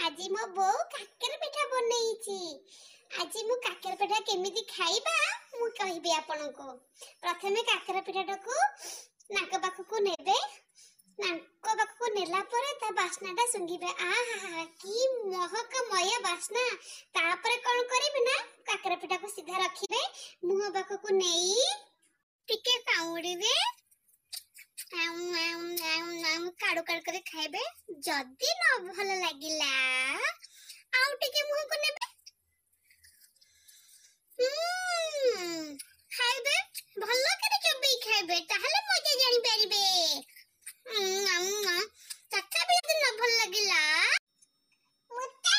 ଆଜି ମୋ ବୋଉ କାକେରା ପିଠା ବନେଇଛି। ଆଜି ମୁଁ କାକେରା ପିଠା କେମିତି ଖାଇବା ମୁଁ କହିବି ଆପଣଙ୍କୁ। ପ୍ରଥମେ କାକେରା ପିଠାଟାକୁ ନାକ ପାଖକୁ ନେବେ। ନାକ ପାଖକୁ ନେଲା ପରେ ତା ବାସ୍ନାଟା ଶୁଙ୍ଘିବେ। ଆହା, କି ମହକମୟ ବାସ୍ନା! ତାପରେ କଣ କରିବେ ନା, କାକେରା ପିଠାକୁ ସିଧା ରଖିବେ, ମୁହଁ ପାଖକୁ ନେଇ ଟିକେ କାମୁଡ଼ିବେ, କାଡୁ କାଡୁ କରି ଖାଇବେ। ଯଦି ନ ଭଲ ଲାଗିଲା, ଆଉ ଟିକେ ମୁହଁକୁ ନେବେ, ଖାଇବେ, ଭଲ କରି ଚୋବେଇ ଖାଇବେ, ତାହେଲେ ମଜା ଜାଣିପାରିବେ। ତଥାପି ଯଦି ନ ଭଲ ଲାଗିଲା। मुझे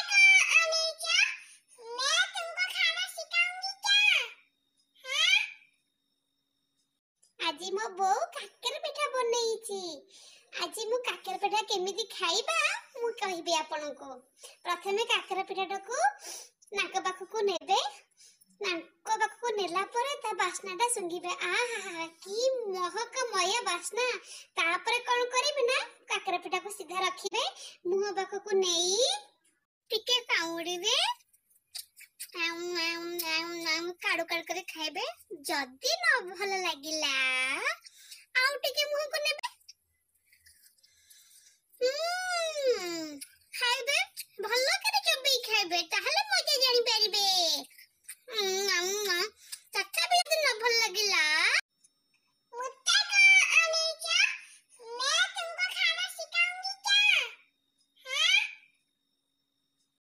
आने क्या? मैं तुमको खाना सिखाऊंगी क्या? हाँ? ଆଜି ମୋ ବୋଉ କାକେରା ପିଠା ବନେଇଛି। ଆଜି ମୁଁ କାକେରା ପିଠା କେମିତି ଖାଇବା ମୁଁ କହିବି ଆପଣଙ୍କୁ। ପ୍ରଥମେ କାକେରା ପିଠାଟାକୁ ନାକ ପାଖକୁ ନେବେ। ନାକ ପାଖକୁ ନେଲା ପରେ ତା ବାସ୍ନାଟା ଶୁଙ୍ଘିବେ। ଆହା, କି ମହକମୟ ବାସ୍ନା! ତାପରେ କଣ କରିବେ ନା, କାକେରା ପିଠାକୁ ସିଧା ରଖିବେ, ମୁହଁ ପାଖକୁ ନେଇ ଟିକେ କାମୁଡ଼ିବେ, କାଡୁ କାଡୁ କରି ଖାଇବେ। ଯଦି ନ ଭଲ ଲାଗିଲା, ଆଉ ଟିକେ ମୁହଁକୁ ନେବେ, ଖାଇବେ, ଭଲ କରି ଚୋବେଇ ଖାଇବେ, ତାହେଲେ